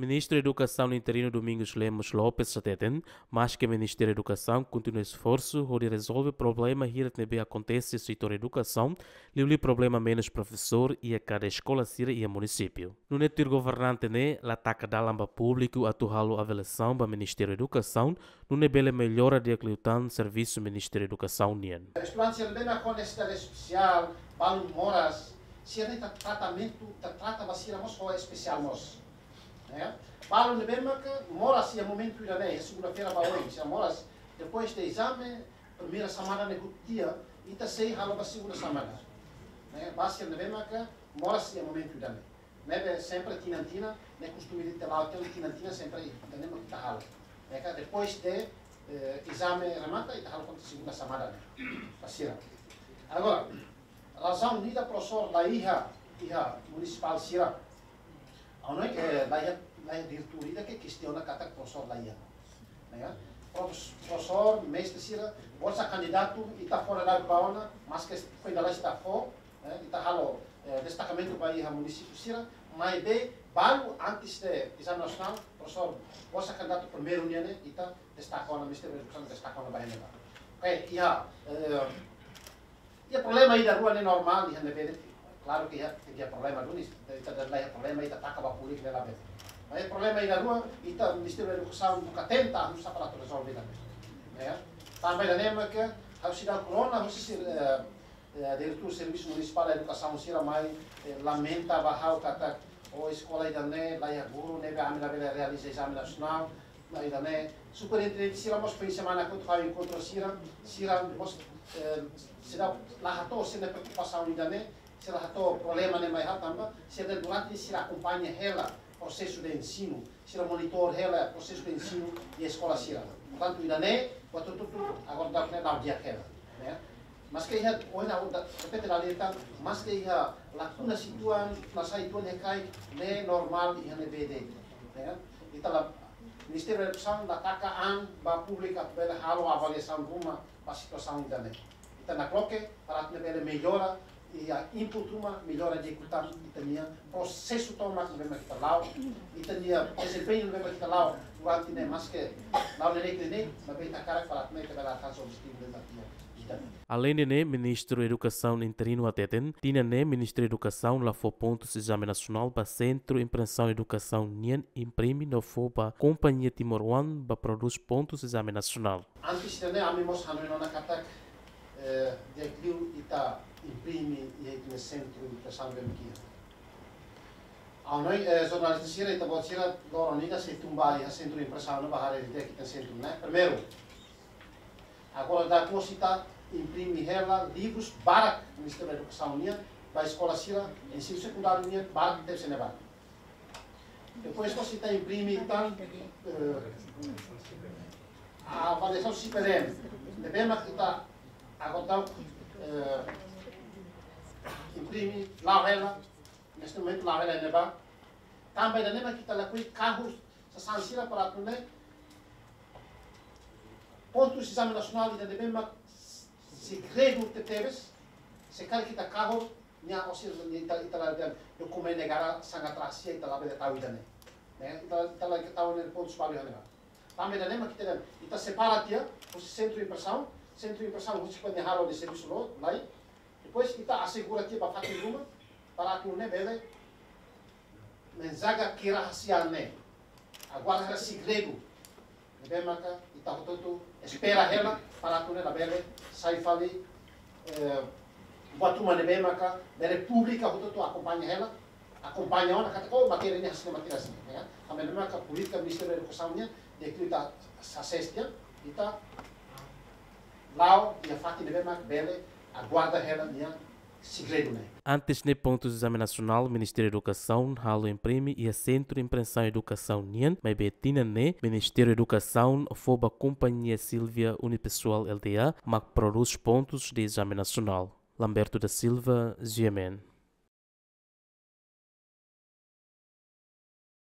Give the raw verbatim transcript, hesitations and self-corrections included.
Ministru Edukasaun interinu Domingos Lemos Lopes hateten, maske Ministériu Edukasaun kontinua esforsu hodi rezolve problema hirak ne'ebé akontese setór edukasaun, liuliu problema menus profesór iha kada eskola sira iha munisípiu. Nune'e tuir governante ne'e la taka dalan ba públiku atu halo avaliasaun ba Ministériu Edukasaun, nune'e bele mellora di'ak liután servisu Ministériu Edukasaun nian. Estudante sira ne'ebé mak ho nesesidade espesiál, balun moras, sira ne'e ita tratamentu, ita trata ba sira mós ho espesiál mós. Ne'e? Balun ne'ebé mak moras iha momentu ida-ne'e, segunda-feira ba oin, sira moras, depois de ezame, primeira semana ne'e hotu tiha, ita sei halo ba segunda semana. Ne'e? Ba sira ne'ebé mak moras iha momentu ida-ne'e. Ne'ebé sempre tinan-tinan, ne'e kostume ita la'o tinan-tinan sempre ita ne'e mak ita halo. Ne'e ka depois de, eh, ezame remata, ita halo konta segunda semana ne'e. Ba sira. Agora, razaun ida profesór la iha, iha munisipál sira. Ha'u hanoin, eh, la iha, la iha diretór ida ke kestiona katak profesór la iha. Ne'e ka? Profes-, profesór, mestre sira, bolsa kandidatu, ita fó daudaun ba ona, maske foin dala ita fó, eh, ita halo, eh, destakamentu ba iha munisípiu sira, maibé balu antes de ezame nasionál, profesór, bolsa kandidatu primeiru nian ne'e, ita destaka ona, Ministériu Edukasaun destaka ona ba ne'ebá. Oke, iha, eh, iha problema ida rua ne'e normál, iha ne'ebé de'it. Klaru ke iha, iha problema duni, ita la iha problema, ita taka ba públiku ne'e labele. Mas iha problema ida rua, ita Ministériu Edukasaun buka tenta, ha'u sá para atu rezolve também. Ya. Tanba ida-ne'e mak, ha'u seidauk rona, ha'u sei, eh, eh, diretór Servisu Munisipál Edukasaun sira mai, eh, lamenta ba ha'u katak, o eskola ida-ne'e, la iha guru, ne'ebé ami labele realiza ezame nasionál, la ida-ne'e, superintendente sira mós foin semana kotuk ha'u enkontru sira, sira mós, eh, sira la hato'o sira-nia preokupasaun ida-ne'e, sira hato'o problema ne'e mai ha'u tanba, sira durante sira akompaña hela prosesu de ensinu, sira monitor hela prosesu de ensinu iha eskola sira. Portantu, ida-ne'e, buat hotu-hotu, agora daudaun ne'e la'o di'ak hela, ne'e? Maske iha, ohin ha'u da-, repete la lihat, maske iha lakuna situan, masalah situan iha kai, ne'e normál iha ne'ebé de'it, ne'e? Ita la, Ministériu Edukasaun la taka an ba públiku atu bele halo avaliasaun ruma ba situasaun ida-ne'e. Ita nakloke, para atu bele mellora, iha input ruma, mellora di'ak liután ita-nia prosesu tomak ne'ebé mak ita la'o, ita-nia dezempeñu ne'ebé mak ita la'o, durante ne'e maske la'o neineik-neineik, maibé ita hakarak para atu ita bele alkansa objetivu ne'ebé mak iha ita. Aleinde ne'e, Ministru Edukasaun interinu hateten, tinan ne'e Ministériu Edukasaun la fó pontus ezame nasionál ba Sentru Impresaun Edukasaun nian imprime no fó ba kompañia timoroan ba prodús pontus ezame nasionál. Antes ida-ne'e ami mós hanoin ona katak, eh, di'ak liu ita imprime iha ita-nia sentru impresaun ne'ebé mak iha. Ha'u hanoin, eh, jornalista sira, ita-boot sira, loron ida sei tun ba iha sentru impresaun ne'e ba haree di'ak ita-nia sentru ne'e. Primeiru, agora daudaun mós ita imprime hela livrus barak Ministériu Edukasaun nian, ba eskola sira, ensinu sekundáriu nian, barak tebes iha ne'ebá. Depois mós ita imprime tan, eh, avaliasaun SIPDN. Ne'ebé mak ita agora daudaun, eh, imprime, la'o hela, neste momento la'o hela iha ne'ebá. Tanba ida-ne'e mak ita lakohi kahur sasán sira para atu nune'e pontus ezame nasionál ida ne'ebé mak segredu tebetebes, se karik ita kahur, nia orsida ita, ita la dehan dokumentu negara sangat rahasia, ita labele tau ida-ne'e. Ne'e, ita, ita la tau ne'e pontus balu iha ne'ebá. Tanba ida-ne'e mak ita dehan, ita separa tiha, husi sentru impresaun, sentru impresaun husi kuandu halo de servisu loos, lai. Depois ita asegura tiha ba fatin ruma, para atu nune'e bele menjaga kerahasiaan ne'e. Agora hela segredu. Ne'ebé maka ita hotu-hotu espera hela para atu nune'e labele sai fali, eh, buat ruma ne'ebé maka bele públiku hotu-hotu akompaña hela, akompaña ona katak, oh, matéria ne'e hanesan ne'e, matéria hanesan ne'e, ya. Tanba ne'e maka polítika Ministériu Edukasaun nian, di'ak liu ita sasés tiha, ita la'o iha fatin ne'ebé mak bele aguarda hela nia segredu ne'e. Antes ne'e pontus ezame nasionál Ministériu Edukasaun halo imprime iha Sentru Impresaun Edukasaun nian, maibé tinan ne'e Ministériu Edukasaun fó ba kompañia Silvia Unipessoal Lda mak prodús pontus de ezame nasionál. Lamberto da Silva, G M N.